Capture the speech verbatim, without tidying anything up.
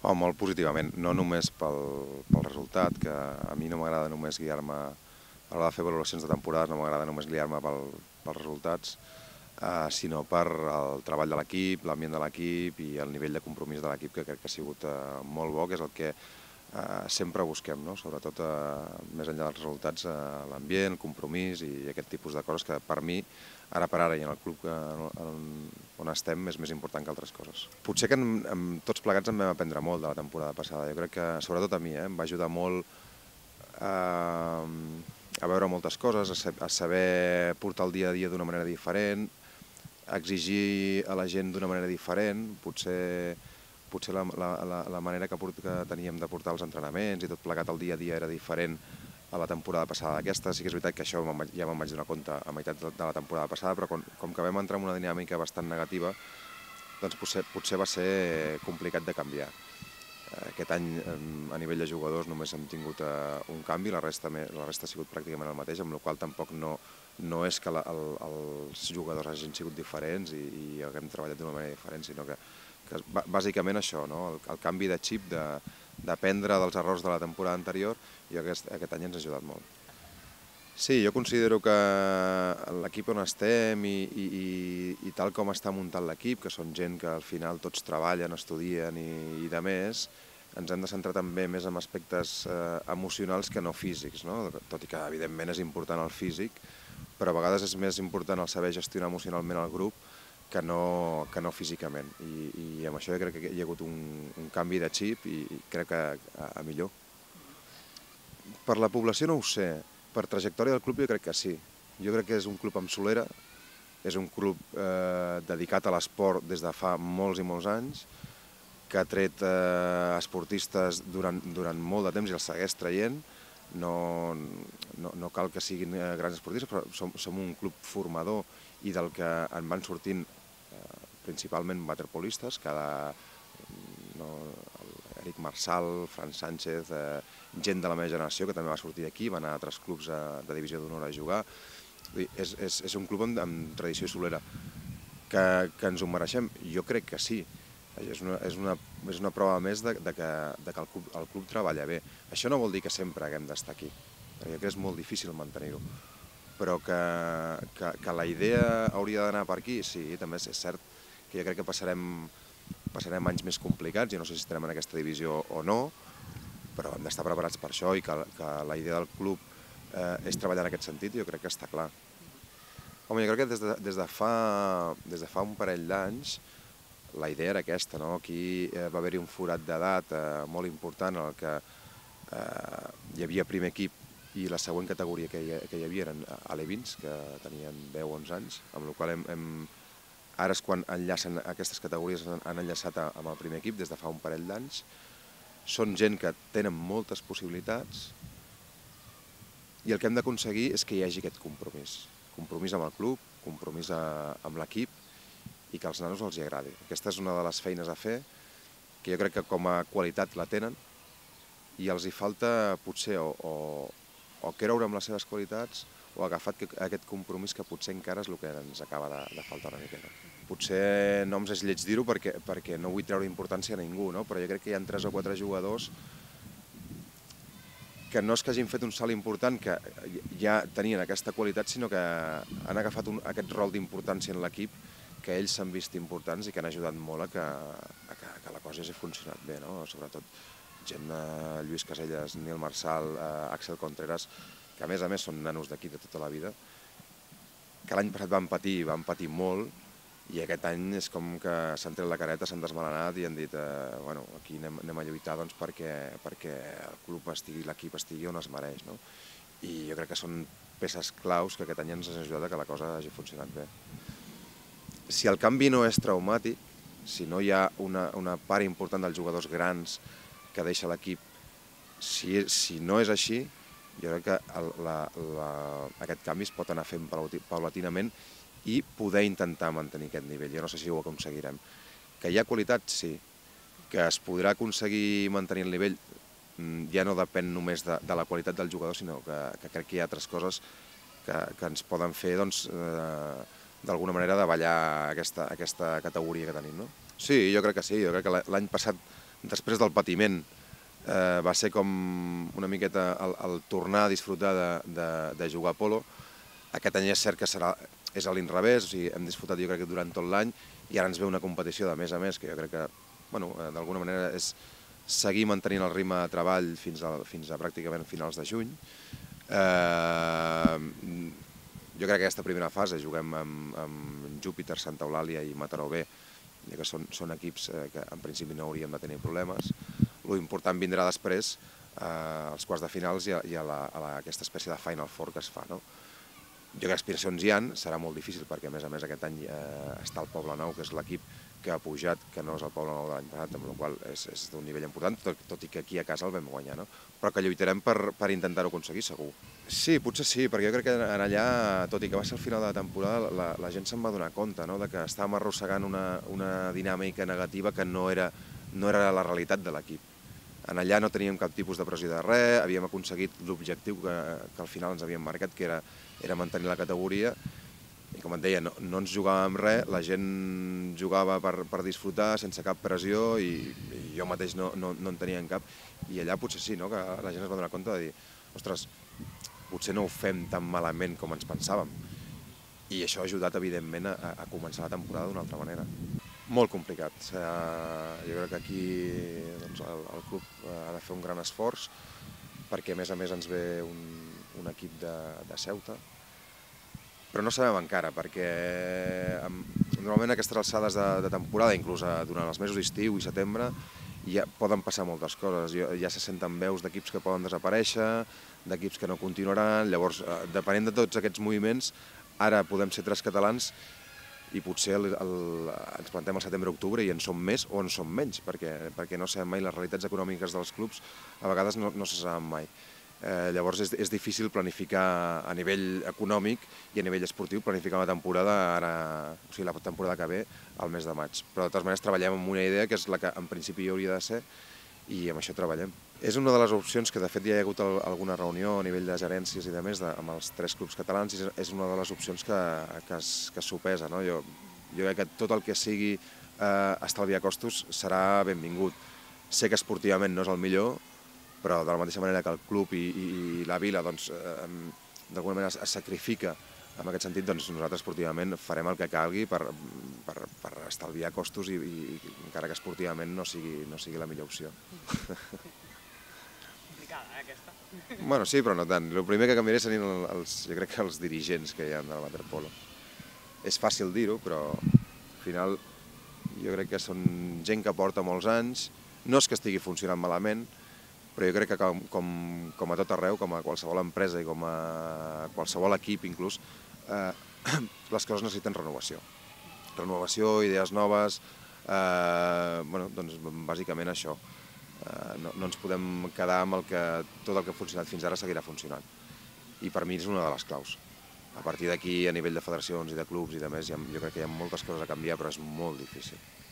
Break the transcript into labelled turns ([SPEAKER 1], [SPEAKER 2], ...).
[SPEAKER 1] Oh, molt positivament, no només pel, pel resultat, que a mi no m'agrada només guiar-me a l'hora de fer valoracions de temporada, no m'agrada només guiar-me pel, pels resultats, eh, sinó per el treball de l'equip, l'ambient de l'equip i el nivell de compromís de l'equip, que crec que ha sigut eh, molt bo, que és el que eh, sempre busquem, no? Sobretot eh, més enllà dels resultats, eh, l'ambient, el compromís i aquest tipus de coses que per mi, ara per ara i en el club que, en, on estem, és més important que altres coses. Potser que en, en, tots plegats en vam aprendre molt de la temporada passada. Jo crec que, sobretot a mi, eh, em va ajudar molt eh, a veure moltes coses, a saber portar el dia a dia d'una manera diferent, a exigir a la gent d'una manera diferent, potser, potser la, la, la manera que, que teníem de portar els entrenaments i tot plegat el dia a dia era diferent a la temporada passada d'aquesta. Sí que és veritat que això ja me'n vaig donar compte a meitat de la temporada passada, però com, com que vam entrar en una dinàmica bastant negativa, doncs potser, potser va ser complicat de canviar. Aquest any, a nivell de jugadors, només hem tingut un canvi, la resta, la resta ha sigut pràcticament el mateix, amb la qual cosa tampoc no, no és que la, el, els jugadors hagin sigut diferents i, i haguem treballat d'una manera diferent, sinó que, que bàsicament això, no? el, el canvi de xip, d'aprendre de, dels errors de la temporada anterior, i aquest, aquest any ens ha ajudat molt. Sí, jo considero que l'equip on estem i, i, i tal com està muntat l'equip, que són gent que al final tots treballen, estudien i, i de més, ens hem de centrar també més en aspectes eh, emocionals que no físics, no? Tot i que evidentment és important el físic, però a vegades és més important el saber gestionar emocionalment el grup que no, que no físicament. I, i amb això jo crec que hi ha hagut un, un canvi de xip i, i crec que a, a millor. Per la població no ho sé, per trajectòria del club jo crec que sí. Jo crec que és un club amb solera, és un club eh, dedicat a l'esport des de fa molts i molts anys, que ha tret eh, esportistes durant, durant molt de temps i els segueix traient. No, no, no cal que siguin eh, grans esportistes, però som, som un club formador i del que en van sortint eh, principalment waterpolistes, cada... No, Eric Marsal, Fran Sánchez, eh, gent de la meva generació que també va sortir d'aquí, va anar a altres clubs eh, de divisió d'honor a jugar. És, és, és un club amb, amb tradició solera. Que, que ens ho mereixem? Jo crec que sí. És una, és una, és una prova més de, de que, de que el, club, el club treballa bé. Això no vol dir que sempre haguem d'estar aquí, perquè crec que és molt difícil mantenir-ho. Però que, que, que la idea hauria d'anar per aquí, sí, també és cert que jo crec que passarem passarem anys més complicats, jo no sé si estarem en aquesta divisió o no, però hem d'estar preparats per això i que, que la idea del club eh, és treballar en aquest sentit i jo crec que està clar. Home, jo crec que des de, des de, fa, des de fa un parell d'anys la idea era aquesta, no? Aquí eh, va haver-hi un forat d'edat eh, molt important en el que eh, hi havia primer equip i la següent categoria que hi, que hi havia eren alevins, que tenien deu o onze anys, amb la qual hem, hem ara és quan enllacen aquestes categories, han enllaçat amb el primer equip des de fa un parell d'anys. Són gent que tenen moltes possibilitats i el que hem d'aconseguir és que hi hagi aquest compromís. Compromís amb el club, compromís amb l'equip i que als nanos els hi agradi. Aquesta és una de les feines a fer que jo crec que com a qualitat la tenen i els hi falta potser o, o, o creure amb les seves qualitats o agafar aquest compromís que potser encara és el que ens acaba de, de faltar una miqueta. Potser no ens és lleig dir-ho perquè, perquè no vull treure importància a ningú, no? Però jo crec que hi ha tres o quatre jugadors que no és que hagin fet un salt important, que ja tenien aquesta qualitat, sinó que han agafat un, aquest rol d'importància en l'equip, que ells s'han vist importants i que han ajudat molt a que, a que, a que la cosa hagi funcionat bé, no? Sobretot gent de Lluís Casellas, Nil Marsal, eh, Axel Contreras, que a més a més són nanos d'aquí de tota la vida, que l'any passat van patir, van patir molt, i aquest any és com que s'han tret la careta, s'han desmalanat i han dit eh, bueno, aquí anem, anem a lluitar doncs, perquè, perquè el club estigui, l'equip estigui on es mereix, no? I jo crec que són peces claus que aquest any ens han ajudat a que la cosa hagi funcionat bé. Si el canvi no és traumàtic, si no hi ha una, una part important dels jugadors grans que deixa l'equip, si, si no és així, jo crec que el, la, la, aquest canvi es pot anar fent paulatinament i poder intentar mantenir aquest nivell. Jo no sé si ho aconseguirem. Que hi ha qualitat, sí. Que es podrà aconseguir mantenir el nivell ja no depèn només de, de la qualitat del jugador, sinó que, que crec que hi ha altres coses que, que ens poden fer doncs, eh, d'alguna manera davallar aquesta, aquesta categoria que tenim, no? Sí, jo crec que sí. Jo crec que l'any passat després del patiment, eh, va ser com una miqueta el, el tornar a disfrutar de, de, de jugar a polo. Aquest any és cert que serà, és a l'inrevés, o sigui, hem disfrutat jo crec que durant tot l'any i ara ens ve una competició de més a més, que jo crec que, bueno, d'alguna manera és seguir mantenint el ritme de treball fins a, fins a pràcticament finals de juny. Eh, jo crec que aquesta primera fase juguem amb, amb Júpiter, Santa Eulàlia i Mataró B, ja que són, són equips que en principi no hauríem de tenir problemes. L'important vindrà després, eh, als quarts de finals i a, i a, la, a la, aquesta espècie de Final Four que es fa, no? Jo crec que aspiracions hi ha, serà molt difícil perquè a més a més aquest any eh, està el Poble Nou, que és l'equip que ha pujat, que no és el Poble Nou de l'any passat, amb la qual cosa és, és d'un nivell important, tot, tot i que aquí a casa el vam guanyar, no? Però que lluitarem per, per intentar-ho aconseguir, segur. Sí, potser sí, perquè jo crec que en allà, tot i que va ser el final de la temporada, la, la gent se'n va donar compte, no? De que estàvem arrossegant una, una dinàmica negativa que no era, no era la realitat de l'equip. En allà no teníem cap tipus de pressió de res, havíem aconseguit l'objectiu que, que al final ens havíem marcat, que era, era mantenir la categoria, i com et deia, no, no ens jugàvem res, la gent jugava per, per disfrutar, sense cap pressió, i, i jo mateix no, no, no en tenia en cap, i allà potser sí, no? Que la gent es va donar compte de dir, ostres, potser no ho fem tan malament com ens pensàvem, i això ha ajudat, evidentment, a, a començar la temporada d'una altra manera. Molt complicat. Jo crec que aquí doncs, el, el club ha de fer un gran esforç perquè a més a més ens ve un, un equip de, de Ceuta, però no sabem encara perquè normalment a aquestes alçades de, de temporada, inclús durant els mesos d'estiu i setembre, ja poden passar moltes coses. Ja se senten veus d'equips que poden desaparèixer, d'equips que no continuaran, llavors depenent de tots aquests moviments, ara podem ser tres catalans i potser el, el, ens plantem al setembre-octubre i en som més o en som menys, perquè, perquè no sabem mai, les realitats econòmiques dels clubs a vegades no, no se saben mai. Eh, llavors és, és difícil planificar a nivell econòmic i a nivell esportiu, planificar una temporada, ara, o sigui, la temporada que ve al mes de maig. Però de totes maneres treballem amb una idea que és la que en principi hi hauria de ser i amb això treballem. És una de les opcions que de fet ja hi ha hagut alguna reunió a nivell de gerències i de més de, amb els tres clubs catalans i és una de les opcions que, que, es, que es sopesa. No? Jo, jo crec que tot el que sigui eh, estalviar costos serà benvingut. Sé que esportivament no és el millor, però de la mateixa manera que el club i, i, i la vila doncs, eh, d'alguna manera es, es sacrifica en aquest sentit, doncs nosaltres esportivament farem el que calgui per, per, per estalviar costos i, i encara que esportivament no sigui, no sigui la millor opció.
[SPEAKER 2] Complicada, eh, aquesta?
[SPEAKER 1] Bueno, sí, però no tant. El primer que canviaré serien els, jo crec que els dirigents que hi ha del waterpolo. És fàcil dir-ho, però al final jo crec que són gent que porta molts anys, no és que estigui funcionant malament, però jo crec que com, com, com a tot arreu, com a qualsevol empresa i com a qualsevol equip inclús, eh, les coses necessiten renovació. Renovació, idees noves, eh, bueno, doncs bàsicament això. Eh, no, no ens podem quedar amb el que tot el que ha funcionat fins ara seguirà funcionant. I per mi és una de les claus. A partir d'aquí, a nivell de federacions i de clubs i de més, jo crec que hi ha moltes coses a canviar, però és molt difícil.